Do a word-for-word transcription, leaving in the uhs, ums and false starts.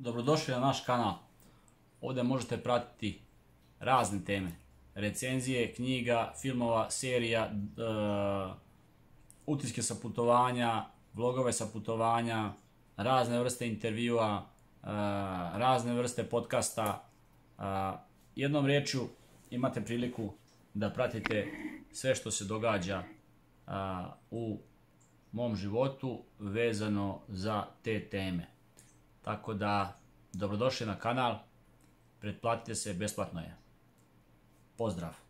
Dobrodošli na naš kanal. Ovdje možete pratiti razne teme. Recenzije, knjiga, filmova, serija, uh, utiske sa putovanja, vlogove sa putovanja, razne vrste intervjua, uh, razne vrste podcasta. Uh, jednom riječju imate priliku da pratite sve što se događa uh, u mom životu vezano za te teme. Tako da, dobrodošli na kanal, pretplatite se, besplatno je. Pozdrav!